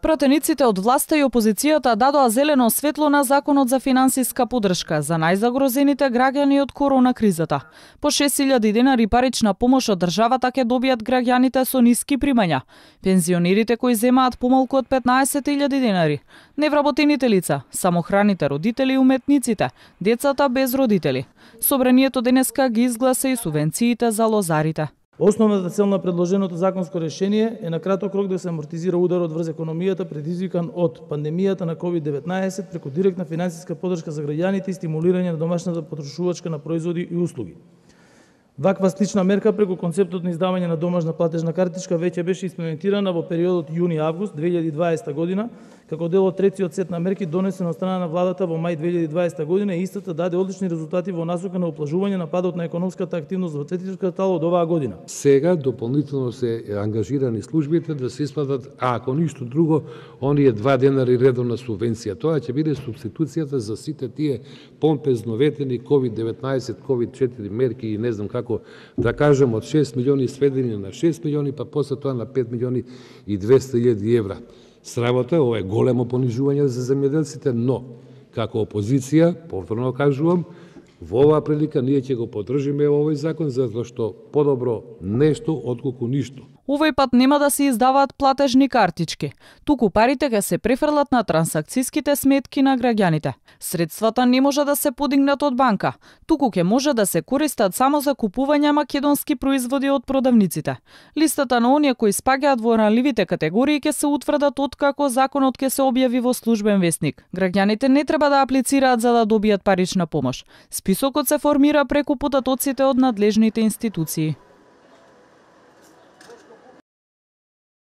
Пратениците од власта и опозицијата дадоа зелено светло на законот за финансиска поддршка за најзагрозените граѓани од корона кризата. По 6.000 денари парична помош од државата ќе добијат граѓаните со ниски примања, пензионерите кои земаат помалку од 15.000 денари, невработените лица, самохраните родители и уметниците, децата без родители. Собранието денеска ги изгласа и субвенциите за лозарите. Основната цел на предложеното законско решение е на краток рок да се амортизира ударот врз економијата предизвикан од пандемијата на COVID-19 преку директна финансиска поддршка за граѓаните и стимулирање на домашната потрошувачка на производи и услуги. Ваква слична мерка преку концептот на издавање на домашна платежна картичка веќе беше имплементирана во периодот јуни-август 2020 година, како дел од третиот сет на мерки донесен од страна на владата во мај 2020 година и истата даде одлични резултати во насока на уплажување на падот на економската активност во третиот квартал од оваа година. Сега дополнително се ангажирани службите да се исплатат, ако ништо друго, оние 2 денари редовна субвенција. Тоа ќе биде субституцијата за сите тие помпезно ветени COVID-19, COVID-4 мерки и не знам како да кажем од 6 милиони сведени на 6 милиони, па после тоа на 5 милиони и 200.000 евра. Срамота, ова е големо понижување за земјоделците, но како опозиција, повторно кажувам, во оваа прилика ние ќе го поддржиме овој закон затоа што подобро нешто отколку ништо. Овој пат нема да се издаваат платежни картички, туку парите ќе се префрлат на трансакцијските сметки на граѓаните. Средствата не може да се подигнат од банка, туку ќе може да се користат само за купување македонски производи од продавниците. Листата на оние кои спаѓаат во ранливите категории ќе се утврдат откако законот ќе се објави во службен весник. Граѓаните не треба да аплицираат за да добијат парична помош. Списокот се формира преку податоците од надлежните институции.